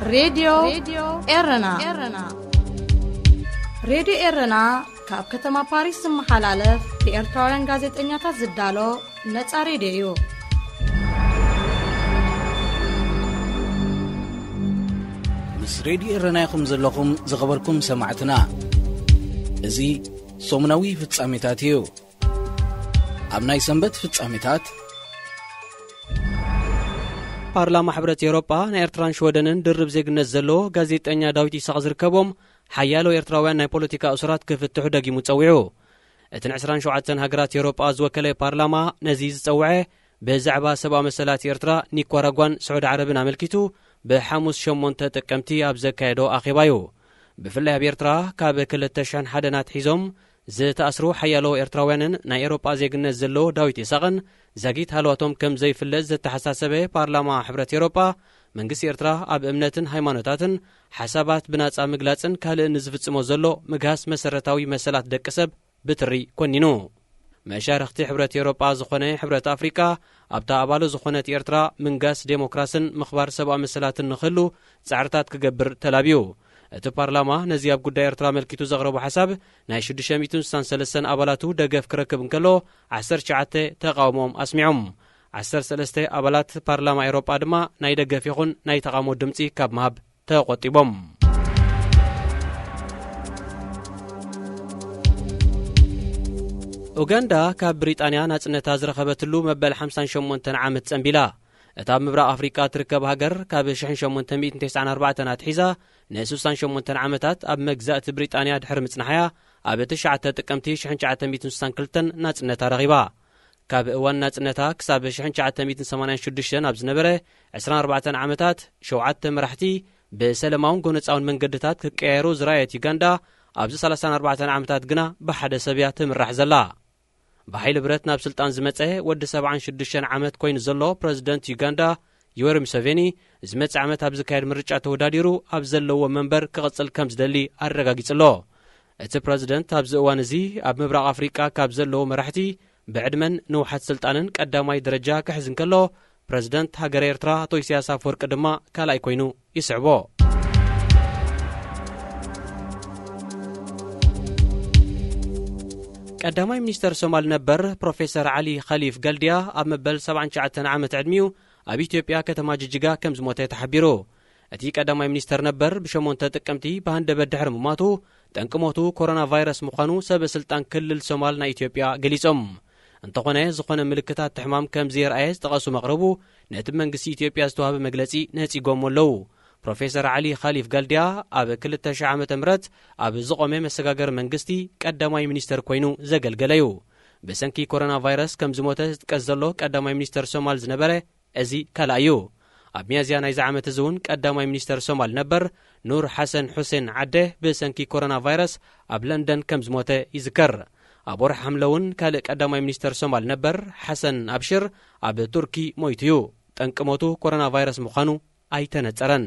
ሬድዮ ኤረና። ሬድዮ ኤረና ካብ ከተማ ፓሪስ ዝመሓላለፍ ብኤርትራውያን ጋዜጠኛታት ዝዳሎ ነጻ ሬድዮ እዩ። ምስ ሬድዮ ኤረና ኢኹም ዘለኹም ዝኸበርኩም ሰማዕትና። እዚ ሰሙናዊ ፍጻሜታት እዩ። ኣብ ናይ ሰንበት ፍጻሜታት፣ ፓርላማ ሕብረት ኤውሮጳ ንኤርትራን ሽወደንን ድርብ ዜግነት ዘለዎ ጋዜጠኛ ዳዊት ኢሳቕ ዝርከቦም ሓያሎ ኤርትራውያን ናይ ፖለቲካ እሱራት ክፍትሑ ደጊሙ ጸዊዑ። እቲ ን ዕስራን ሸውዓተን ሃገራት ኤውሮጳ ዝወከለ ፓርላማ ነዚ ዝጸውዐ፣ ብዛዕባ ሰብኣዊ መሰላት ኤርትራ፣ ኒኳራጓን ስዑዲ ዓረብን ኣመልኪቱ ብሓሙስ ሸሞንተ ጥቅምቲ ኣብ ዘካየዶ ኣኼባ እዩ። ብፍላይ ኣብ ኤርትራ ካብ ክልተ ሽሕን ሓደን ኣትሒዞም ዝተኣስሩ ሓያሎ ኤርትራውያንን ናይ ኤውሮጳ ዜግነት ዘለዎ ዳዊት ኢሳቕን ዛጊት ሃለዋቶም ከም ዘይፍለጥ ዘተሓሳሰበ ፓርላማ ሕብረት ኤውሮጳ፣ መንግስቲ ኤርትራ ኣብ እምነትን ሃይማኖታትን ሓሳባት ብናጻ ምግላጽን ካልእን ንዝፍጽሞ ዘሎ ምግሃስ መሰረታዊ መሰላት ደቂ ሰብ ብትሪ ኮኒኑ። መሻርኽቲ ሕብረት ኤውሮጳ ዝኾነ ሕብረት ኣፍሪቃ፣ ኣብታ ኣባሉ ዝኾነት ኤርትራ ምንጋስ ዴሞክራስን ምኽባር ሰብኣዊ መሰላትን ንኽህሉ ጻዕርታት ክገብር ተላብዩ። እቲ ፓርላማ ነዚ ኣብ ጉዳይ ኤርትራ ኣመልኪቱ ዘቕረቦ ሓሳብ፣ ናይ ሽዱሽተ ሚእትን ስሳን ሰለስተን ኣባላቱ ደገፍ ክረክብ እንከሎ፣ ዓሰርተ ትሽዓተ ተቓውሞኦም ኣስሚዖም። ዓሰርተ ሰለስተ ኣባላት ፓርላማ ኤውሮጳ ድማ ናይ ደገፍ ይኹን ናይ ተቓውሞ ድምጺ ካብ ምሃብ ተቖጢቦም። ኡጋንዳ ካብ ብሪጣንያ ናጽነታ ዝረኸበትሉ መበል ሓምሳን ሸሞንተን ዓመት ጸንቢላ። እታ ኣብ ምብራቕ ኣፍሪቃ ትርከብ ሃገር፣ ካብ ሽሕን ሸሞንተ ሚእትን ተስዓን ኣርባዕተን ኣትሒዛ ንስሳን ሸሞንተን ዓመታት ኣብ መግዛእቲ ብሪጣንያ ድሕሪ ምጽናሓያ፣ ኣብ ትሽዓተ ጥቅምቲ ሽሕን ትሽዓተ ሚእትን ስሳን ክልተን ናጽነታ ረኺባ። ካብ እዋን ናጽነታ ክሳብ ሽሕን ትሽዓተ ሚእትን ሰማንያን ሽዱሽተን ኣብ ዝነበረ ዕስራን ኣርባዕተን ዓመታት፣ ሸውዓተ መራሕቲ ብሰለማውን ጎነጻውን መንገድታት ክቀያየሩ ዝረኣየት ዩጋንዳ፣ ኣብዚ ሰላሳን ኣርባዕተን ዓመታት ግና ብሓደ ሰብ እያ ትምራሕ ዘላ። ብሓይሊ ብረት ናብ ስልጣን ዝመጸ ወዲ ሰብዓን ሽዱሽተን ዓመት ኮይኑ ዘሎ ፕረዚደንት ዩጋንዳ፣ ዮወሪ ሙሰቬኒ፣ ዝመጽእ ዓመት ኣብ ዝካየድ ምርጫ ተወዳዲሩ ኣብ ዘለዎ መንበር ክቕጽል ከም ዝደሊ ኣረጋጊጹ ኣሎ። እቲ ፕረዚደንት ኣብዚ እዋን እዚ ኣብ ምብራቕ ኣፍሪቃ ካብ ዘለዉ መራሕቲ ብዕድመን ንውሓት ስልጣንን ቀዳማይ ደረጃ ክሕዝ እንከሎ፣ ፕረዚደንት ሃገረ ኤርትራ ኣቶ ኢሳያስ ኣፈወርቂ ድማ ካልኣይ ኮይኑ ይስዕቦ። ቀዳማይ ሚኒስተር ሶማል ነበር ፕሮፌሰር ዓሊ ኸሊፍ ገልድያ ኣብ መበል ሰብዓን ትሽዓተን ዓመት ዕድሚኡ ኣብ ኢትዮጵያ ከተማ ጅጅጋ ከም ዝሞተ ተሓቢሩ። እቲ ቀዳማይ ሚኒስተር ነበር ብሸሞንተ ጥቅምቲ ብሃንደበት ድሕሪ ምሟቱ፣ ጠንቂ ሞቱ ኮሮና ቫይረስ ምዃኑ ሰበ ስልጣን ክልል ሶማል ናይ ኢትዮጵያ ገሊጾም። እንተኾነ፣ ዝኾነ ምልክታት ሕማም ከም ዘየርኣየ ዝጠቐሱ መቕረቡ፣ ነቲ መንግስቲ ኢትዮጵያ ዝተዋህበ መግለጺ ነጺጎሞ ኣለዉ። ፕሮፌሰር ዓሊ ኻሊፍ ጋልድያ ኣብ ክልተ ሽሕ ዓመተ ምህረት ኣብ ዝቖመ መሰጋገሪ መንግስቲ ቀዳማይ ሚኒስተር ኮይኑ ዘገልገለ እዩ። ብሰንኪ ኮሮና ቫይረስ ከም ዝሞተ ዝጥቀስ ዘሎ ቀዳማይ ሚኒስተር ሶማል ዝነበረ እዚ ካልኣይ እዩ። ኣብ ሚያዝያ ናይዚ ዓመት እዚ እውን ቀዳማይ ሚኒስተር ሶማል ነበር ኑር ሓሰን ሑሴን ዓደ ብሰንኪ ኮሮና ቫይረስ ኣብ ለንደን ከም ዝሞተ ይዝከር። ኣብ ወርሒ ሓምለ እውን ካልእ ቀዳማይ ሚኒስተር ሶማል ነበር ሓሰን ኣብሽር ኣብ ቱርኪ ሞይቱ እዩ። ጠንቂ ሞቱ ኮሮና ቫይረስ ምዃኑ ኣይተነጸረን።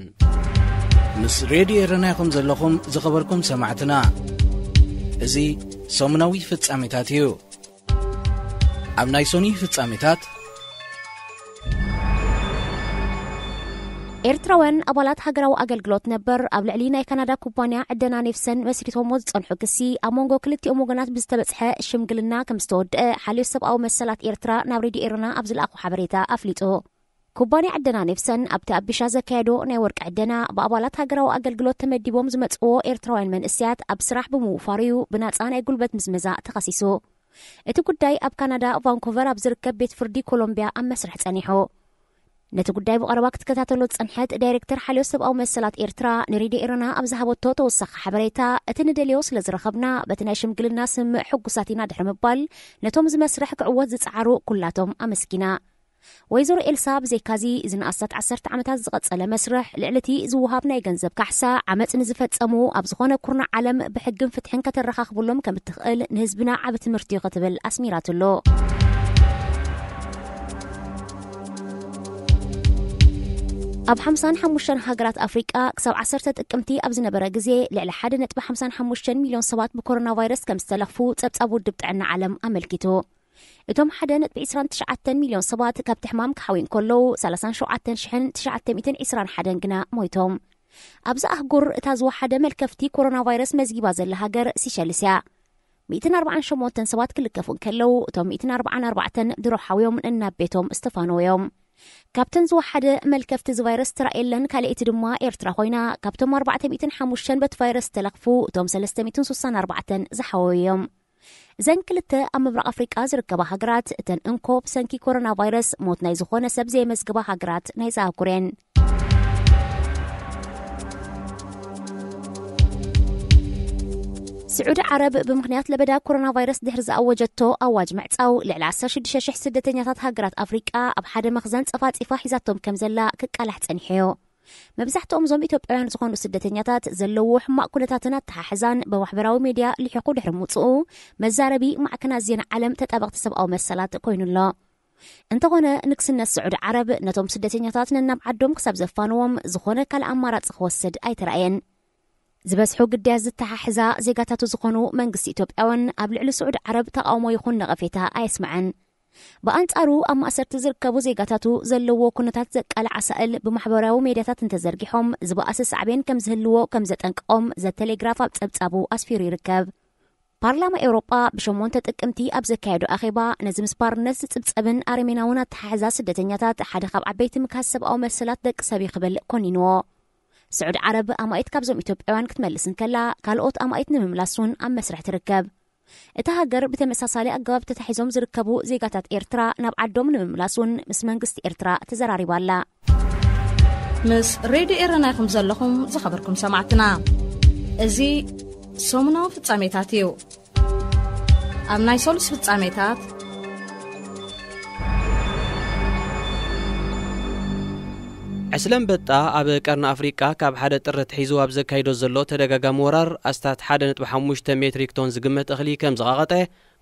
ምስ ሬድዮ ኤረና ኢኹም ዘለኹም ዝኸበርኩም ሰማዕትና። እዚ ሰሙናዊ ፍጻሜታት እዩ። ኣብ ናይ ሶኒ ፍጻሜታት፣ ኤርትራውያን ኣባላት ሃገራዊ ኣገልግሎት ነበር ኣብ ልዕሊ ናይ ካናዳ ኩባንያ ዕደና ኔፍሰን መስሪቶሞ ዝጸንሑ ክሲ፣ ኣብ መንጎ ክልቲኦም ወገናት ብዝተበጽሐ ሽምግልና ከም ዝተወድአ ሓልዮት ሰብኣዊ መሰላት ኤርትራ ናብ ሬድዮ ኤረና ኣብ ዝለኣኾ ሓበሬታ ኣፍሊጡ። ኩባንያ ዕደና ኔፍሰን ኣብቲ ኣብ ቢሻ ዘካየዶ ናይ ወርቂ ዕደና፣ ብኣባላት ሃገራዊ ኣገልግሎት ተመዲቦም ዝመጽእዎ ኤርትራውያን መንእሰያት ኣብ ስራሕ ብምውፋሩ እዩ ብናጻ ናይ ጉልበት ምዝመዛ ተኸሲሱ። እቲ ጉዳይ ኣብ ካናዳ ቫንኩቨር ኣብ ዝርከብ ቤት ፍርዲ ኮሎምብያ ኣብ መስርሕ ጸኒሑ። ነቲ ጉዳይ ብቐረባ ክትከታተሎ ዝጸንሐት ዳይሬክተር ሓልዮት ሰብኣዊ መሰላት ኤርትራ ንሬድዮ ኤረና ኣብ ዝሃበቶ ተወሳኺ ሓበሬታ፣ እቲ ንደልዮ ስለ ዝረኸብና፣ በቲ ናይ ሽምግልና ስምምዕ ሕጉሳት ኢና ድሕሪ ምባል፣ ነቶም እዚ መስርሕ ክዕወት ዝጸዓሩ ኩላቶም ኣመስጊና። ወይዘሮ ኤልሳ፣ ብዘይካዚ፣ እዚ ንኣስታት ዓሰርተ ዓመታት ዝቐጸለ መስርሕ፣ ልዕሊ እቲ ዝወሃብ ናይ ገንዘብ ካሕሳ፣ ዓመጽ ንዝፈጸሙ ኣብ ዝኾነ ኩርናዕ ዓለም ብሕግን ፍትሕን ከተረኻኽብሎም ከም እትኽእል ንህዝብና ዓቢ ትምህርቲ እዩ ክትብል ኣስሚራትሉ። ኣብ ሓምሳን ሓሙሽተን ሃገራት ኣፍሪቃ ክሳብ ዓሰርተ ጥቅምቲ ኣብ ዝነበረ ግዜ፣ ልዕሊ ሓደ ነጥቢ ሓምሳን ሓሙሽተን ሚልዮን ሰባት ብኮሮና ቫይረስ ከም ዝተለኽፉ ጸብጻብ ውድብ ጥዕና ዓለም ኣመልኪቱ። እቶም ሓደ ነጥቢ ዕስራን ትሽዓተን ሚልዮን ሰባት ካብቲ ሕማም ክሓውዩ እንከለዉ፣ ሰላሳን ሸውዓተን ሽሕን ትሽዓተ ሚእትን ዕስራን ሓደን ግና ሞይቶም። ኣብዚ ኣህጉር እታ ዝወሓደ መልከፍቲ ኮሮና ቫይረስ መዝጊባ ዘላ ሃገር ሲሸልስ እያ። ሚእትን ኣርባዓን ሸሞንተን ሰባት ክልከፉ እንከለዉ፣ እቶም ሚእትን ኣርባዓን ኣርባዕተን ድሮ ሓውዮም ነናብ ቤቶም ዝተፋነዉ እዮም። ካብተን ዝወሓደ መልከፍቲ እዚ ቫይረስ ተራእየለን ካልኣይቲ ድማ ኤርትራ ኮይና፣ ካብቶም ኣርባዕተ ሚእትን ሓሙሽተን በቲ ቫይረስ ዝተለኽፉ፣ እቶም ሰለስተ ሚእትን ስሳን ኣርባዕተን ዝሓወዩ እዮም። እዘን ክልተ ኣብ ምብራቕ ኣፍሪቃ ዝርከባ ሃገራት፣ እተን እንኮ ብሰንኪ ኮሮና ቫይረስ ሞት ናይ ዝኾነ ሰብ ዘየመዝግባ ሃገራት ናይዚ ኣህጉር እየን። ስዑዲ ዓረብ ብምኽንያት ለበዳ ኮሮና ቫይረስ ድሕሪ ዝኣወጀቶ ኣዋጅ ምዕጻው፣ ልዕሊ ዓሰርተ ሽዱሽተ ሽሕ ስደተኛታት ሃገራት ኣፍሪቃ ኣብ ሓደ መኽዘን ጸፋጺፋ ሒዛቶም ከም ዘላ ክቃላሕ ጸኒሑ እዩ። መብዛሕትኦም እዞም ኢትዮጵያውያን ዝኾኑ ስደተኛታት ዘለዎ ሕማቕ ኩነታትን ኣተሓሕዛን ብማሕበራዊ ሜድያ ልሒቑ ድሕሪ ምውጽኡ፣ መዛረቢ ማዕከናት ዜና ዓለም ተጣበቕቲ ሰብኣዊ መሰላት ኮይኑ ኣሎ። እንተኾነ፣ ንግስነት ስዑዲ ዓረብ ነቶም ስደተኛታት ነናብ ዓዶም ክሳብ ዘፋንዎም ዝኾነ ካልእ ኣማራጺ ክወስድ ኣይተራእየን። ዝበዝሑ ግዳያት ዝተሓሕዛ ዜጋታቱ ዝኾኑ መንግስቲ ኢትዮጵያ እውን ኣብ ልዕሊ ስዑዲ ዓረብ ተቓውሞ ይኹን ነቐፌታ ኣየስምዐን። ብኣንጻሩ፣ ኣብ ማእሰርቲ ዝርከቡ ዜጋታቱ ዘለዎ ኩነታት ዘቃልዕ ኣሳእል ብማሕበራዊ ሜድያታት እንተዘርጊሖም፣ ዝበኣሰ ሳዕቤን ከም ዝህልዎ ከም ዘጠንቅቖም ዘ ቴሌግራፍ ኣብ ጸብጻቡ ኣስፊሩ ይርከብ። ፓርላማ ኤውሮጳ ብሸሞንተ ጥቅምቲ ኣብ ዘካየዶ ኣኼባ፣ ነዚ ምስ ባርነት ዝጽብጸብን ኣረሜናውን ኣተሓሕዛ ስደተኛታት ሓደ ካብ ዓበይቲ ምክሃስ ሰብኣዊ መሰላት ደቂ ሰብ እዩ ክብል ኮኒንዎ። ስዑዲ ዓረብ ኣማኢት ካብዞም ኢትዮጵያውያን ክትመልስ እንከላ፣ ካልኦት ኣማኢት ንምምላስ እውን ኣብ መስርሕ ትርከብ። እታ ሃገር ብተመሳሳሊ ኣገባብ ተታሒዞም ዝርከቡ ዜጋታት ኤርትራ ናብ ዓዶም ንምምላስ እውን ምስ መንግስቲ ኤርትራ ተዘራሪባ ኣላ። ምስ ሬድዮ ኤረና ኢኹም ዘለኹም ዝኸበርኩም ሰማዕትና። እዚ ሰሙናዊ ፍጻሜታት እዩ። ኣብ ናይ ሰሉስ ፍጻሜታት፣ ዕስለ ኣንበጣ ኣብ ቀርኒ ኣፍሪቃ ካብ ሓደ ጥሪ ኣትሒዙ ኣብ ዘካይዶ ዘሎ ተደጋጋሚ ወራር ኣስታት ሓደ ነጥቢ ሓሙሽተ ሜትሪክ ቶን ዝግመት እኽሊ ከም ዝቐቐጠ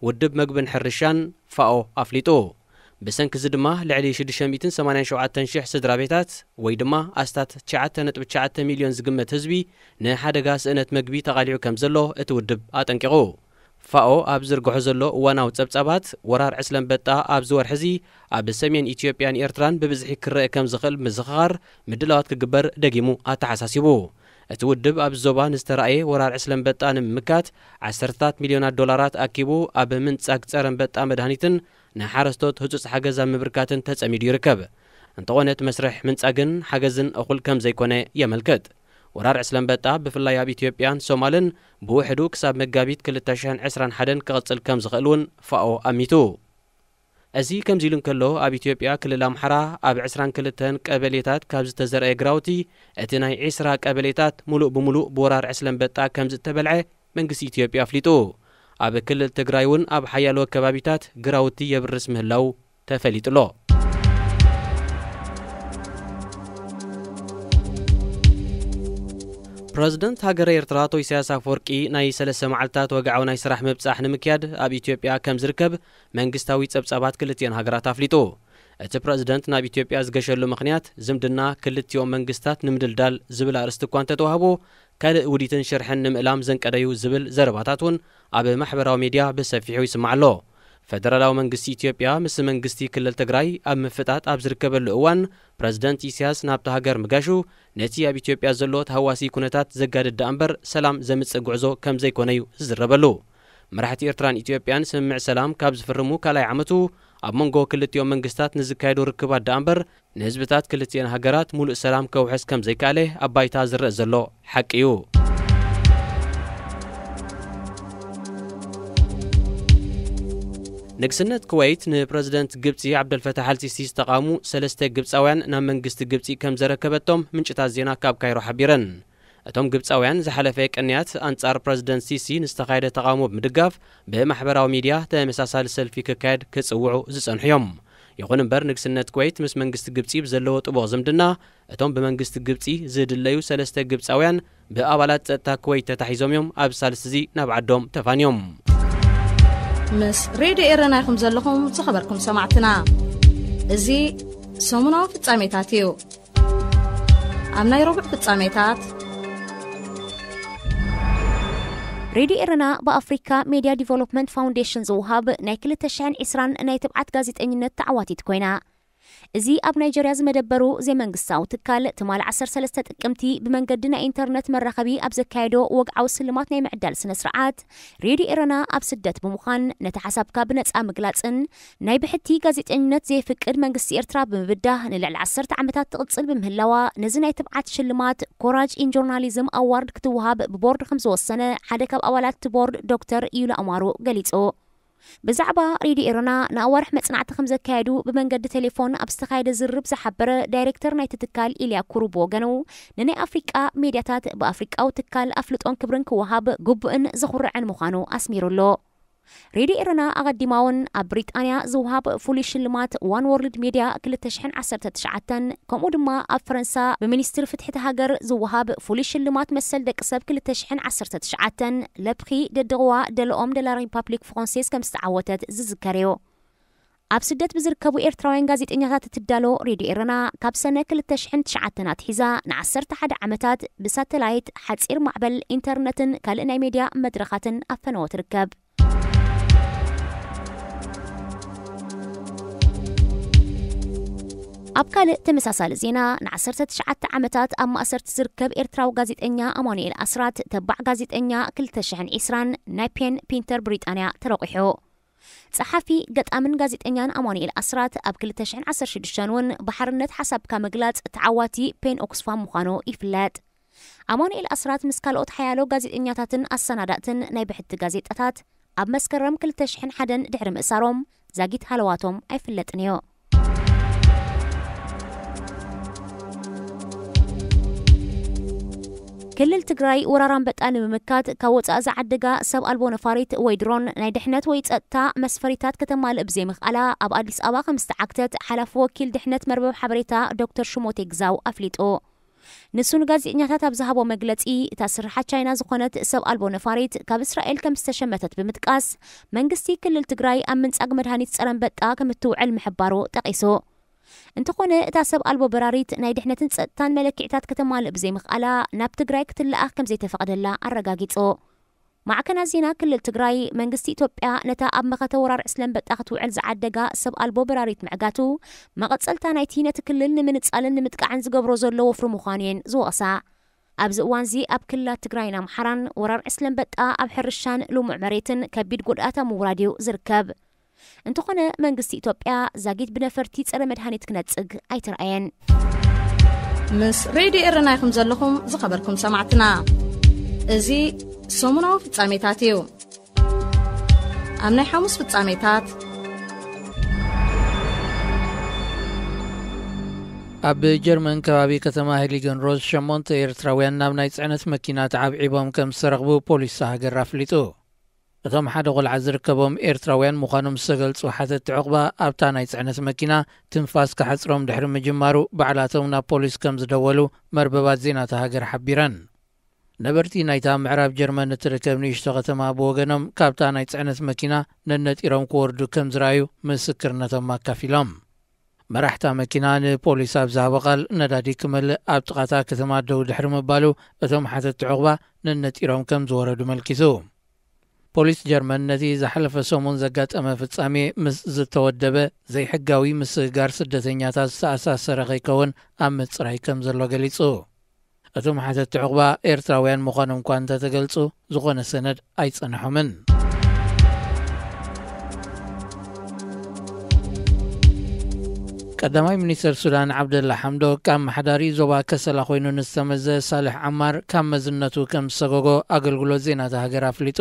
ውድብ መግብን ሕርሻን ፋኦ ኣፍሊጡ። ብሰንኪ እዚ ድማ ልዕሊ ሽዱሽተ ሚእትን ሰማንያን ሸውዓተን ሽሕ ስድራ ቤታት ወይ ድማ ኣስታት ትሽዓተ ነጥቢ ትሽዓተ ሚልዮን ዝግመት ህዝቢ ንሓደጋ ስእነት መግቢ ተቓሊዑ ከም ዘሎ እቲ ውድብ ኣጠንቂቑ። ፋኦ ኣብ ዝርግሖ ዘሎ እዋናዊ ጸብጻባት፣ ወራር ዕስለ ኣንበጣ ኣብዚ ወርሒ እዚ ኣብ ሰሜን ኢትዮጵያን ኤርትራን ብብዝሒ ክረአ ከም ዝኽእል ምዝኽኻር ምድላዋት ክግበር ደጊሙ ኣተሓሳሲቡ። እቲ ውድብ ኣብዚ ዞባ ንዝተራእየ ወራር ዕስለ ኣንበጣ ንምምካት ዓሰርተታት ሚልዮናት ዶላራት ኣኪቡ ኣብ ምንጻግ ጸረ ኣንበጣ መድሃኒትን ንሓረስቶት ህጹጽ ሓገዝ ኣብ ምብርካትን ተጸሚዱ ይርከብ። እንተኾነ እቲ መስርሕ ምንጻግን ሓገዝን እኹል ከም ዘይኮነ የመልክት። ወራር ዕስለ ኣንበጣ ብፍላይ ኣብ ኢትዮጵያን ሶማልን ብውሕዱ ክሳብ መጋቢት ክልተ ሽሕን ዕስራን ሓደን ክቕጽል ከም ዝኽእል እውን ፋኦ ኣሚቱ። እዚ ከምዚ ኢሉ እንከሎ፣ ኣብ ኢትዮጵያ ክልል ኣምሓራ ኣብ ዕስራን ክልተን ቀበሌታት ካብ ዝተዘርአ ግራውቲ እቲ ናይ ዕስራ ቀበሌታት ሙሉእ ብሙሉእ ብወራር ዕስለ ኣንበጣ ከም ዝተበልዐ መንግስቲ ኢትዮጵያ ኣፍሊጡ። ኣብ ክልል ትግራይ እውን ኣብ ሓያሎ ከባቢታት ግራውቲ የብርስ ምህላው ተፈሊጡ ኣሎ። ፕረዚደንት ሃገረ ኤርትራ ኣቶ ኢሳያስ ኣፈወርቂ ናይ ሰለስተ መዓልታት ወግዓዊ ናይ ስራሕ ምብጻሕ ንምክያድ ኣብ ኢትዮጵያ ከም ዝርከብ መንግስታዊ ጸብጻባት ክልቲኤን ሃገራት ኣፍሊጡ። እቲ ፕረዚደንት ናብ ኢትዮጵያ ዝገሸሉ ምኽንያት ዝምድና ክልቲኦም መንግስታት ንምድልዳል ዝብል ኣርእስቲ እኳ እንተተዋህቦ፣ ካልእ ውዲትን ሽርሕን ንምእላም ዘንቀደዩ ዝብል ዘረባታት እውን ኣብ ማሕበራዊ ሜድያ ብሰፊሑ ይስማዕ ኣሎ። ፈደራላዊ መንግስቲ ኢትዮጵያ ምስ መንግስቲ ክልል ትግራይ ኣብ ምፍጣጥ ኣብ ዝርከበሉ እዋን፣ ፕረዚደንት ኢሳያስ ናብታ ሃገር ምጋሹ ነቲ ኣብ ኢትዮጵያ ዘሎ ተሃዋሲ ኩነታት ዘጋድድ ደኣ እምበር ሰላም ዘምጽእ ጉዕዞ ከም ዘይኮነ እዩ ዝዝረበሉ። መራሕቲ ኤርትራን ኢትዮጵያን ስምምዕ ሰላም ካብ ዝፍርሙ ካልኣይ ዓመቱ ኣብ መንጎ ክልቲኦም መንግስታት ንዝካየዱ ርክባት ደኣ እምበር ንህዝብታት ክልቲኤን ሃገራት ሙሉእ ሰላም ከውሕስ ከም ዘይከኣለ ኣብ ባይታ ዝረአ ዘሎ ሓቂ እዩ። ንግስነት ኩወይት ንፕረዚደንት ግብጺ ዓብደልፈታሕ ኣልሲሲ ዝተቓወሙ ሰለስተ ግብጻውያን ናብ መንግስቲ ግብጺ ከም ዘረከበቶም ምንጭታት ዜና ካብ ካይሮ ሓቢረን። እቶም ግብጻውያን ዝሓለፈ ቅንያት ኣንጻር ፕረዚደንት ሲሲ ንዝተኻየደ ተቓውሞ ብምድጋፍ ብማሕበራዊ ሚድያ ተመሳሳሊ ሰልፊ ክካየድ ክጽውዑ ዝጸንሑ እዮም። ይኹን እምበር ንግስነት ኩወይት ምስ መንግስቲ ግብጺ ብዘለዎ ጥቡቕ ዝምድና እቶም ብመንግስቲ ግብጺ ዝድለዩ ሰለስተ ግብጻውያን ብኣባላት ጸጥታ ኩወይት ተታሒዞም እዮም ኣብ ሳልስቲ እዚ ናብ ዓዶም ተፋንዮም። ምስ ሬድዮ ኤረና ኢኹም ዘለኹም ዝኸበርኩም ሰማዕትና። እዚ ሰሙናዊ ፍጻሜታት እዩ። ኣብ ናይ ረቡዕ ፍጻሜታት፣ ሬድዮ ኤረና ብኣፍሪካ ሜድያ ዲቨሎፕመንት ፋውንዴሽን ዝውሃብ ናይ ክልተ ሽሕን ዕስራን ናይ ትብዓት ጋዜጠኝነት ተዓዋቲት ኮይና፣ እዚ ኣብ ናይጀርያ ዝመደበሩ ዘይመንግስታዊ ትካል ትማሊ ዓሰርተ ሰለስተ ጥቅምቲ ብመንገዲ ናይ ኢንተርነት መራኸቢ ኣብ ዘካየዶ ወግዓዊ ስልማት ናይ ምዕዳል ስነ ስርዓት፣ ሬድዮ ኤረና ኣብ ስደት ብምዃን ነቲ ሓሳብካ ብነጻ ምግላጽን ናይ ብሕቲ ጋዜጠኝነት ዘየፍቅድ መንግስቲ ኤርትራ ብምብዳህ ንልዕሊ ዓሰርተ ዓመታት ትቕጽል ብምህላዋ፣ ነዚ ናይ ትብዓት ሽልማት ኮራጅ ኢን ጆርናሊዝም ኣዋርድ ክትወሃብ ብቦርድ ከም ዝወሰነ ሓደ ካብ ኣባላት እቲ ቦርድ ዶክተር ዩላ ኣማሩ ገሊጹ። ብዛዕባ ሬድዮ ኤረና ንኣዋርሕ መጽናዕቲ ከም ዘካየዱ ብመንገዲ ቴሌፎን ኣብ ዝተኻየደ ዝርርብ ዝሓበረ ዳይሬክተር ናይቲ ትካል ኢልያ ኩሩ ብወገኑ፣ ንናይ ኣፍሪቃ ሜድያታት ብኣፍሪቃዊ ትካል ኣፍልጦን ክብርን ክወሃብ ግቡእን ዘኹርዕን ምዃኑ ኣስሚሩ ኣሎ። ሬድዮ ኤረና ኣቐዲማ እውን ኣብ ብሪጣንያ ዝወሃብ ፍሉይ ሽልማት ዋን ወርልድ ሜድያ ክልተ ሽሕን ዓሰርተ ትሽዓተን፣ ከምኡ ድማ ኣብ ፈረንሳ ብሚኒስትሪ ፍትሒ እታ ሃገር ዝወሃብ ፍሉይ ሽልማት መሰል ደቂ ሰብ ክልተ ሽሕን ዓሰርተ ትሽዓተን፣ ለፕኺ ደድቕዋ ደለኦም ደላ ሪፓብሊክ ፍራንሴዝ ከም ዝተዓወተት ዝዝከር እዩ። ኣብ ስደት ብዝርከቡ ኤርትራውያን ጋዜጠኛታት እትዳሎ ሬድዮ ኤረና፣ ካብ ሰነ ክልተ ሽሕን ትሽዓተን ኣትሒዛ ንዓሰርተ ሓደ ዓመታት ብሳተላይት፣ ሓጺር ማዕበል፣ ኢንተርነትን ካልእ ናይ ሜድያ መድረኻትን ኣብ ፈነወ ትርከብ። ኣብ ካልእ ተመሳሳሊ ዜና፣ ንዓሰርተ ትሽዓተ ዓመታት ኣብ ማእሰርቲ ዝርከብ ኤርትራዊ ጋዜጠኛ ኣማኑኤል ኣስራት፣ ተባዕ ጋዜጠኛ ክልተ ሽሕን ዕስራን ናይ ፔን ፒንተር ብሪጣንያ ተረቑሑ። ጸሓፊ፣ ገጣምን ጋዜጠኛን ኣማኑኤል ኣስራት ኣብ ክልተ ሽሕን ዓሰርተ ሽዱሽተን እውን ብሓርነት ሓሳብካ ምግላጽ ተዓዋቲ ፔን ኦክስፋም ምዃኑ ይፍለጥ። ኣማኑኤል ኣስራት ምስ ካልኦት ሓያሎ ጋዜጠኛታትን ኣሰናዳእትን ናይ ብሕቲ ጋዜጣታት ኣብ መስከረም ክልተ ሽሕን ሓደን ድሕሪ ምእሳሮም ዛጊት ሃለዋቶም ኣይፍለጥን እዩ። ክልል ትግራይ ወራር ኣንበጣ ንምምካት ካብ ወጻኢ ዝዓደጋ ሰብ ኣልቦ ነፋሪት ወይ ድሮን ናይ ድሕነት ወይ ጸጥታ መስፈሪታት ከተማልእ ብዘይምኽኣላ ኣብ ኣዲስ ኣበባ ከም ዝተዓግተት ሓላፊ ወኪል ድሕነት መርበብ ሓበሬታ ዶክተር ሽሞቴ ግዛው ኣፍሊጡ። ንሱ ንጋዜጠኛታት ኣብ ዝሃቦ መግለጺ፣ እታ ስርሓ ቻይና ዝኾነት ሰብ ኣልቦ ነፋሪት ካብ እስራኤል ከም ዝተሸመተት ብምጥቃስ፣ መንግስቲ ክልል ትግራይ ኣብ ምንጻግ መድሃኒት ጸረ ኣንበጣ ከም እትውዕል ምሕባሩ ጠቒሱ። እንተኾነ፣ እታ ሰብ ኣልቦ በራሪት ናይ ድሕነትን ጸጥታን መለክዕታት ከተማልእ ብዘይምኽኣላ፣ ናብ ትግራይ ክትለኣኽ ከም ዘይተፈቕደላ ኣረጋጊጹ። ማዕከናት ዜና ክልል ትግራይ፣ መንግስቲ ኢትዮጵያ ነታ ኣብ መኸተ ወራር ዕስለ ኣንበጣ ክትውዕል ዝዓደጋ ሰብ ኣልቦ በራሪት ምዕጋቱ፣ መቐጸልታ ናይቲ ነቲ ክልል ንምንጻልን ንምጥቃዕን ዝገብሮ ዘሎ ወፍሪ ምዃኑ እየን ዝወቕሳ። ኣብዚ እዋንዚ ኣብ ክልላት ትግራይን ኣምሓራን ወራር ዕስለ ኣንበጣ ኣብ ሕርሻን ልሙዕ መሬትን ከቢድ ጉድኣት ኣብ ምውራድ እዩ ዝርከብ። እንተኾነ፣ መንግስቲ ኢትዮጵያ ዛጊት ብነፈርቲ ጸረ መድሃኒት ክነጽግ ኣይተራእየን። ምስ ሬድዮ ኤረና ኢኹም ዘለኹም ዝኸበርኩም ሰማዕትና። እዚ ሰሙናዊ ፍጻሜታት እዩ። ኣብ ናይ ሓሙስ ፍጻሜታት፣ ኣብ ጀርመን ከባቢ ከተማ ሄሊገን ሮዝ ሸሞንተ ኤርትራውያን ናብ ናይ ጽዕነት መኪና ተዓብዒቦም ከም ዝተረኽቡ ፖሊስ ሃገር ኣፍሊጡ። እቶም ሓደ ቆልዓ ዝርከቦም ኤርትራውያን ምዃኖም ዝተገልጹ ሓተትቲ ዕቑባ፣ ኣብታ ናይ ጽዕነት መኪና ትንፋስ ክሓጽሮም ድሕሪ ምጅማሩ፣ ባዕላቶም ናብ ፖሊስ ከም ዝደወሉ መርበባት ዜና እታ ሃገር ሓቢረን። ነበርቲ ናይታ ምዕራብ ጀርመን እትርከብ ንእሽቶ ከተማ ብወገኖም፣ ካብታ ናይ ጽዕነት መኪና ነነጢሮም ክወርዱ ከም ዝረኣዩ ምስክርነቶም ኣካፊሎም። መራሕታ መኪና ንፖሊስ ኣብ ዝሃቦ ቃል፣ ነዳዲ ክመልእ ኣብ ጥቓታ ከተማ ደው ድሕሪ ምባሉ፣ እቶም ሓተትቲ ዕቑባ ነነጢሮም ከም ዝወረዱ መልኪቱ። ፖሊስ ጀርመን ነቲ ዝሓለፈ ሰሙን ዘጋጠመ ፍጻሜ ምስ ዝተወደበ ዘይሕጋዊ ምስግጋር ስደተኛታት ዝተኣሳሰረ ከይከውን ኣብ ምጽራይ ከም ዘሎ ገሊጹ። እቶም ሓተትቲ ዕቑባ ኤርትራውያን ምዃኖም እኳ እንተተገልጹ፣ ዝኾነ ሰነድ ኣይጸንሖምን። ቀዳማይ ሚኒስተር ሱዳን ዓብደላ ሓምዶክ፣ ኣመሓዳሪ ዞባ ከሰላ ኮይኑ ንዝተመዘ ሳልሕ ዓማር ካብ መዝነቱ ከም ዝሰጎጎ ኣገልግሎት ዜና እታ ሃገር ኣፍሊጡ።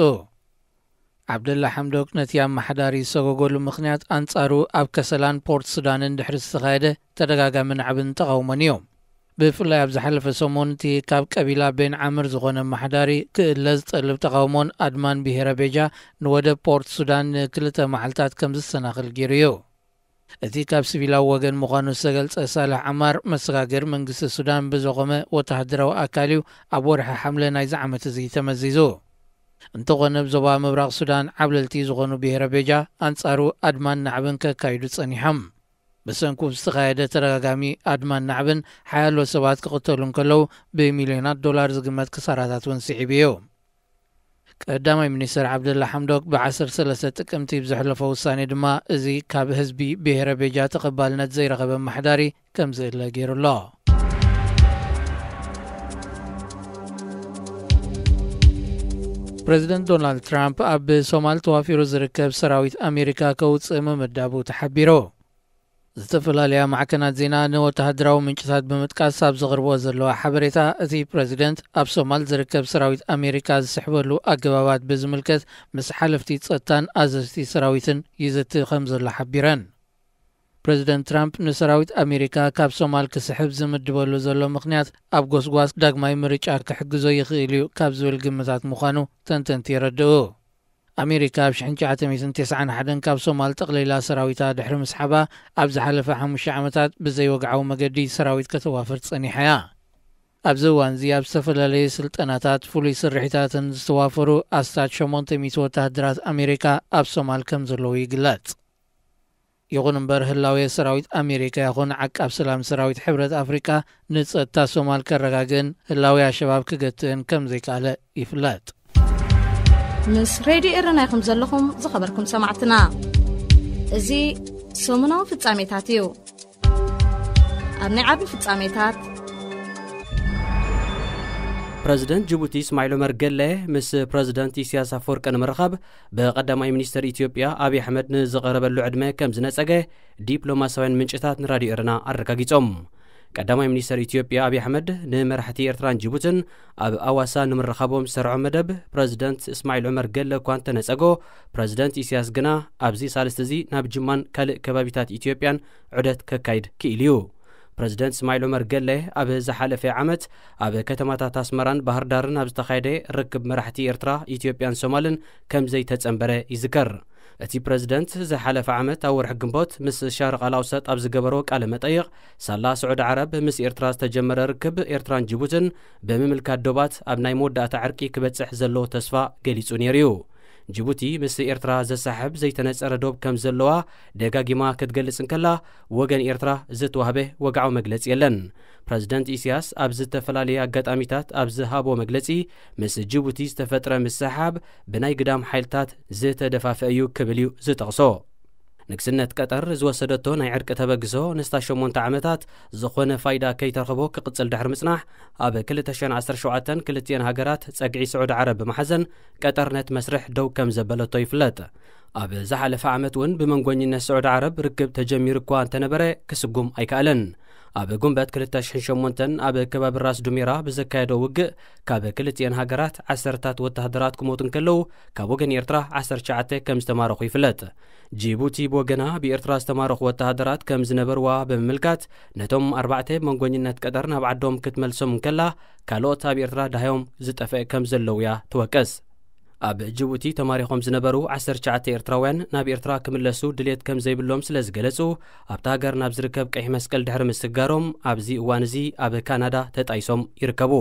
ዓብደላ ሓምዶክ ነቲ ኣመሓዳሪ ዝሰጎገሉ ምኽንያት፣ ኣንጻሩ ኣብ ከሰላን ፖርት ሱዳንን ድሕሪ ዝተኻየደ ተደጋጋሚ ናዕብን ተቓውሞን እዩ። ብፍላይ ኣብ ዝሓለፈ ሰሙን፣ እቲ ካብ ቀቢላ ቤን ዓምር ዝኾነ ኣመሓዳሪ ክእለ ዝጠልብ ተቓውሞን ኣድማን ብሄረ ቤጃ ንወደብ ፖርት ሱዳን ንክልተ መዓልታት ከም ዝሰናኽል ገይሩ እዩ። እቲ ካብ ሲቪላዊ ወገን ምዃኑ ዝተገልጸ ሳልሕ ዓማር፣ መሰጋገሪ መንግስቲ ሱዳን ብዘቖመ ወተሃደራዊ ኣካል እዩ ኣብ ወርሒ ሓምለ ናይዚ ዓመት እዚ ተመዚዙ። እንተኾነ፣ ኣብ ዞባ ምብራቕ ሱዳን ዓብለልቲ ዝኾኑ ብሄረ ቤጃ፣ ኣንጻሩ ኣድማን ናዕብን ከካይዱ ጸኒሖም። ብሰንኩ ዝተኻየደ ተደጋጋሚ ኣድማን ናዕብን፣ ሓያሎ ሰባት ክቕተሉ እንከለዉ፣ ብሚልዮናት ዶላር ዝግመት ክሳራታት እውን ስዒቡ እዩ። ቀዳማይ ሚኒስትር ዓብደላ ሓምዶክ ብ ዓሰርተ ሰለስተ ጥቅምቲ ብዘሕለፎ ውሳኔ ድማ፣ እዚ ካብ ህዝቢ ብሄረ ቤጃ ተቐባልነት ዘይረኸበ ኣመሓዳሪ ከም ዝእለ ገይሩ ኣሎ። ፕሬዚደንት ዶናልድ ትራምፕ ኣብ ሶማል ተዋፊሩ ዝርከብ ሰራዊት ኣሜሪካ ከውፅእ ምምዳቡ ተሓቢሩ። ዝተፈላለያ ማዕከናት ዜና ንወተሃደራዊ ምንጭታት ብምጥቃስ ኣብ ዘቕርቦ ዘለዋ ሓበሬታ፣ እቲ ፕሬዚደንት ኣብ ሶማል ዝርከብ ሰራዊት ኣሜሪካ ዝስሕበሉ ኣገባባት ብዝምልከት ምስ ሓለፍቲ ጸጥታን ኣዘዝቲ ሰራዊትን ይዝቲ ከም ዘሎ ሓቢረን። ፕሬዚደንት ትራምፕ ንሰራዊት ኣሜሪካ ካብ ሶማል ክስሕብ ዝምድበሉ ዘሎ ምኽንያት፣ ኣብ ጎስጓስ ዳግማይ ምርጫ ክሕግዞ ይኽእል እዩ ካብ ዝብል ግምታት ምዃኑ ተንተንቲ የረድኡ። ኣሜሪካ ኣብ ሽሕን ትሽዓተ ሚእትን ተስዓን ሓደን ካብ ሶማል ጠቕሊላ ሰራዊታ ድሕሪ ምስሓባ፣ ኣብ ዝሓለፈ ሓሙሽተ ዓመታት ብዘይወግዓዊ መገዲ ሰራዊት ከተዋፍር ጸኒሓ እያ። ኣብዚ እዋን እዚ ኣብ ዝተፈላለየ ስልጠናታት፣ ፍሉይ ስርሒታትን ዝተዋፈሩ ኣስታት ሸሞንተ ሚእቲ ወተሃደራት ኣሜሪካ ኣብ ሶማል ከም ዘለዉ ይግለጽ። ይኹን እምበር፣ ህላዌ ሰራዊት ኣሜሪካ ይኹን ዓቃብ ሰላም ሰራዊት ሕብረት ኣፍሪቃ ንጸጥታ ሶማል ከረጋግእን ህላዌ ኣሸባብ ክገትእን ከም ዘይከኣለ ይፍለጥ። ምስ ሬድዮ ኤረና ኢኹም ዘለኹም ዝኸበርኩም ሰማዕትና። እዚ ሰሙናዊ ፍጻሜታት እዩ። ኣብ ናይ ዓቢ ፍጻሜታት፣ ፕረዚደንት ጅቡቲ እስማዒል ዑመር ገለ ምስ ፕረዚደንት ኢሳያስ ኣፈወርቂ ንምርኻብ ብቀዳማይ ሚኒስተር ኢትዮጵያ ኣብይ ኣሕመድ ንዝቐረበሉ ዕድመ ከም ዝነጸገ ዲፕሎማሳውያን ምንጭታት ንራድዮ ኤረና ኣረጋጊጾም። ቀዳማይ ሚኒስተር ኢትዮጵያ ኣብይ ኣሕመድ ንመራሕቲ ኤርትራን ጅቡትን ኣብ ኣዋሳ ንምርኻቦም ዝሰርዖ መደብ ፕረዚደንት እስማዒል ዑመር ገለ እኳ እንተነጸጎ፣ ፕረዚደንት ኢሳያስ ግና ኣብዚ ሳልስቲ እዚ ናብ ጅማን ካልእ ከባቢታት ኢትዮጵያን ዑደት ከካይድ ክኢሉ እዩ። ፕረዚደንት እስማዒል ዑመር ገለ ኣብ ዝሓለፈ ዓመት ኣብ ከተማታት ኣስመራን ባህር ዳርን ኣብ ዝተኻየደ ርክብ መራሕቲ ኤርትራ፣ ኢትዮጵያን ሶማልን ከም ዘይተጸንበረ ይዝከር። እቲ ፕረዚደንት ዝሓለፈ ዓመት ኣብ ወርሒ ግንቦት ምስ ሻርቕ ኣልኣውሰጥ ኣብ ዝገበሮ ቃለ መጠይቕ፣ ሳላ ስዑዲ ዓረብ ምስ ኤርትራ ዝተጀመረ ርክብ ኤርትራን ጅቡትን ብምምልካት ዶባት ኣብ ናይ መወዳእታ ዕርቂ ክበጽሕ ዘለዎ ተስፋ ገሊጹ ነይሩ እዩ። ጅቡቲ ምስ ኤርትራ ዘሳሕብ ዘይተነጸረ ዶብ ከም ዘለዋ ደጋጊማ ክትገልጽ እንከላ፣ ወገን ኤርትራ ዝተዋህበ ወግዓዊ መግለጺ የለን። ፕረዚደንት ኢሳያስ ኣብ ዝተፈላለየ ኣጋጣሚታት ኣብ ዝሃቦ መግለጺ፣ ምስ ጅቡቲ ዝተፈጥረ ምስሕሓብ ብናይ ግዳም ሓይልታት ዝተደፋፈ እዩ ክብል እዩ ዝጠቕሶ። ንግስነት ቀጠር ዝወሰደቶ ናይ ዕርቂ ተበግሶ ንስታ ሸሞንተ ዓመታት ዝኾነ ፋይዳ ከይተረኽቦ ክቕጽል ድሕሪ ምጽናሕ፣ ኣብ ክልተ ሽሕን ዓሰርተ ሸውዓተን ክልቲኤን ሃገራት ጸግዒ ስዑዲ ዓረብ ብምሓዘን ቀጠር ነቲ መስርሕ ደው ከም ዘበለቶ ይፍለጥ። ኣብ ዝሓለፈ ዓመት እውን ብመንጎኝነት ስዑዲ ዓረብ ርክብ ተጀሚሩ እኳ እንተነበረ ክስጉም ኣይከኣለን። ኣብ ጉንበት ክልተ ሽሕን ሸሞንተን ኣብ ከባቢ ራስ ዱሜራ ብዘካየዶ ውግእ ካብ ክልቲኤን ሃገራት ዓሰርታት ወተሃደራት ክሞቱ እንከለዉ፣ ካብ ወገን ኤርትራ ዓሰርተ ትሽዓተ ከም ዝተማረኹ ይፍለጥ። ጂቡቲ ብወገና ብኤርትራ ዝተማረኹ ወተሃደራት ከም ዝነበርዋ ብምምልካት፣ ነቶም ኣርባዕተ መንጎኝነት ቀጠር ናብ ዓዶም ክትመልሶም እንከላ፣ ካልኦት ኣብ ኤርትራ ዳህዮም ዝጠፍአ ከም ዘለዉ እያ ትወቅስ። ኣብ ጅቡቲ ተማሪኾም ዝነበሩ ዓሰርተ ትሽዓተ ኤርትራውያን ናብ ኤርትራ ክምለሱ ድሌት ከም ዘይብሎም ስለ ዝገለጹ፣ ኣብታ ሃገር ናብ ዝርከብ ቀይሕ መስቀል ድሕሪ ምስግጋሮም፣ ኣብዚ እዋን እዚ ኣብ ካናዳ ተጣይሶም ይርከቡ።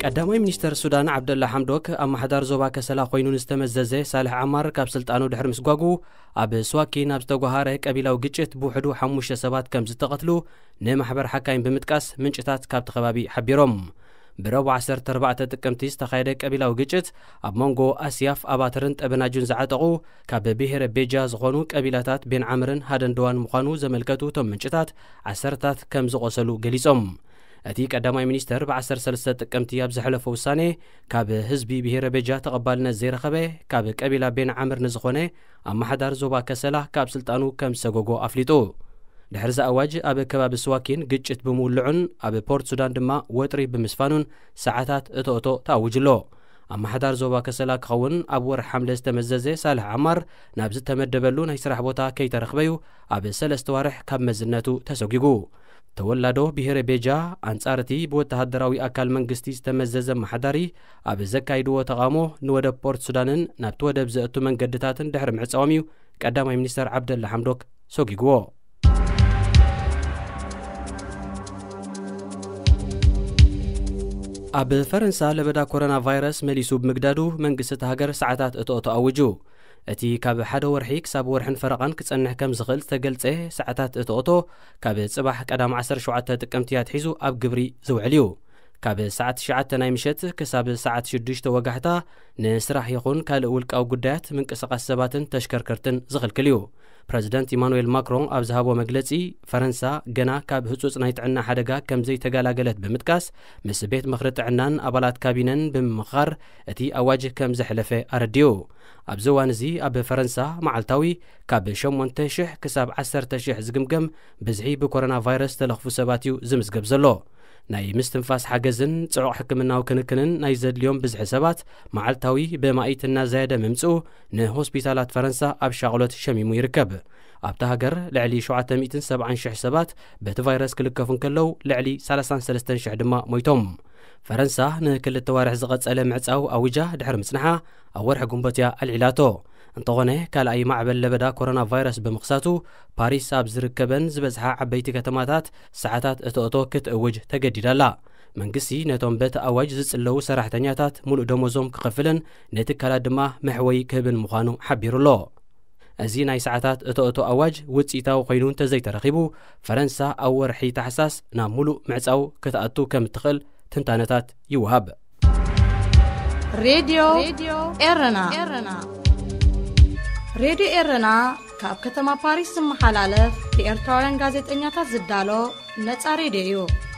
ቀዳማይ ሚኒስተር ሱዳን ዓብደላ ሓምዶክ፣ ኣመሓዳር ዞባ ከሰላ ኮይኑ ንዝተመዘዘ ሳልሕ ዓማር ካብ ስልጣኑ ድሕሪ ምስጓጉ፣ ኣብ ስዋኪን ኣብ ዝተጓሃረ ቀቢላዊ ግጭት ብውሕዱ ሓሙሽተ ሰባት ከም ዝተቐትሉ ንማሕበር ሓካይም ብምጥቃስ ምንጭታት ካብቲ ከባቢ ሓቢሮም። ብረቡዕ ዓሰርተ ኣርባዕተ ጥቅምቲ ዝተኻየደ ቀቢላዊ ግጭት ኣብ መንጎ ኣስያፍ ኣባተርን ጠበናጁን ዝዓጠቑ ካብ ብሄረ ቤጃ ዝኾኑ ቀቢላታት ቤን ዓምርን ሃደንደዋን ምዃኑ ዘመልከቱ እቶም ምንጭታት፣ ዓሰርታት ከም ዝቖሰሉ ገሊጾም። እቲ ቀዳማይ ሚኒስተር ብ ዓሰርተ ሰለስተ ጥቅምቲ ኣብ ዘሕለፎ ውሳኔ፣ ካብ ህዝቢ ብሄረ ቤጃ ተቐባልነት ዘይረኸበ ካብ ቀቢላ ቤን ዓምር ንዝኾነ ኣመሓዳሪ ዞባ ከሰላ ካብ ስልጣኑ ከም ዝሰጎጎ ኣፍሊጡ። ድሕሪ እዚ ኣዋጅ ኣብ ከባቢ ስዋኪን ግጭት ብምውልዑን ኣብ ፖርት ሱዳን ድማ ወጥሪ ብምስፋኑን ሰዓታት እቶ እቶ ተኣዊጁ ኣሎ። ኣመሓዳሪ ዞባ ከሰላ ክኸውን ኣብ ወርሒ ሓምለ ዝተመዘዘ ሳልሕ ዓማር ናብ ዝተመደበሉ ናይ ስራሕ ቦታ ከይተረኽበዩ ኣብ ሰለስተ ዋርሕ ካብ መዝነቱ ተሰጒጉ። ተወላዶ ብሄረ ቤጃ ኣንጻር እቲ ብወተሃደራዊ ኣካል መንግስቲ ዝተመዘዘ ኣመሓዳሪ ኣብ ዘካይድዎ ተቓውሞ ንወደብ ፖርት ሱዳንን ናብቲ ወደብ ዘእቱ መንገድታትን ድሕሪ ምዕጻዎም እዩ ቀዳማይ ሚኒስተር ዓብደላ ሓምዶክ ሰጒግዎ። ኣብ ፈረንሳ ለበዳ ኮሮና ቫይረስ መሊሱ ብምግዳዱ መንግስቲ እቲ ሃገር ሰዓታት እቶ እቶ ኣውጁ። እቲ ካብ ሓደ ወርሒ ክሳብ ወርሕን ፈረቓን ክጸንሕ ከም ዝኽእል ዝተገልጸ ሰዓታት እቶእቶ፣ ካብ ጽባሕ ቀዳም ዓሰርተ ሸውዓተ ጥቅምቲ ኣትሒዙ ኣብ ግብሪ ዝውዕል እዩ። ካብ ሰዓት ትሽዓተ ናይ ምሸት ክሳብ ሰዓት ሽዱሽተ ወጋሕታ፣ ንስራሕ ይኹን ካልእ ውልቃዊ ጉዳያት ምንቅስቓስ ሰባትን ተሽከርከርትን ዝኽልክል እዩ። ፕረዚደንት ኢማኑኤል ማክሮን ኣብ ዝሃቦ መግለጺ፣ ፈረንሳ ገና ካብ ህጹጽ ናይ ጥዕና ሓደጋ ከም ዘይተገላገለት ብምጥቃስ፣ ምስ ቤት ምኽሪ ጥዕናን ኣባላት ካቢነን ብምምኻር እቲ ኣዋጅ ከም ዘሕለፈ ኣረዲኡ። ኣብዚ እዋን እዚ ኣብ ፈረንሳ መዓልታዊ ካብ ሸሞንተ ሽሕ ክሳብ ዓሰርተ ሽሕ ዝግምገም ብዝሒ ብኮሮና ቫይረስ ተለኽፉ ሰባት እዩ ዝምዝገብ ዘሎ። ናይ ምስትንፋስ ሓገዝን ጽዑቕ ሕክምናዊ ክንክንን ናይ ዘድልዮም ብዝሒ ሰባት መዓልታዊ ብማኢት እናዘየደ ምምጽኡ፣ ንሆስፒታላት ፈረንሳ ኣብ ሻቕሎት ሸሚሙ ይርከብ። ኣብታ ሃገር ልዕሊ ሸውዓተ ሚእትን ሰብዓን ሽሕ ሰባት በቲ ቫይረስ ክልከፉ እንከለዉ፣ ልዕሊ ሰላሳን ሰለስተን ሽሕ ድማ ሞይቶም። ፈረንሳ ንክልተ ዋርሕ ዝቐጸለ ምዕጻው ኣዊጃ ድሕሪ ምጽንሓ፣ ኣብ ወርሒ ግንቦት እያ ኣልዒላቶ። እንተኾነ፣ ካልኣይ ማዕበል ለበዳ ኮሮና ቫይረስ ብምኽሳቱ፣ ፓሪስ ኣብ ዝርከበን ዝበዝሓ ዓበይቲ ከተማታት ሰዓታት እቶእቶ ክትእውጅ ተገዲዳ ኣላ። መንግስቲ ነቶም በቲ ኣዋጅ ዝጽለዉ ሰራሕተኛታት ሙሉእ ደሞዞም ክኸፍልን ንትካላት ድማ መሕወይ ክህብን ምዃኑ ሓቢሩ ኣሎ። እዚ ናይ ሰዓታት እቶእቶ ኣዋጅ ውጽኢታዊ ኮይኑ እንተዘይተረኺቡ፣ ፈረንሳ ኣብ ወርሒ ታሕሳስ ናብ ሙሉእ ምዕጻው ክትኣቱ ከም እትኽእል ትንታነታት ይወሃብ። ሬድዮ ኤረና። ሬድዮ ኤረና ካብ ከተማ ፓሪስ ዝመሓላለፍ ብኤርትራውያን ጋዜጠኛታት ዝዳሎ ነጻ ሬድዮ እዩ።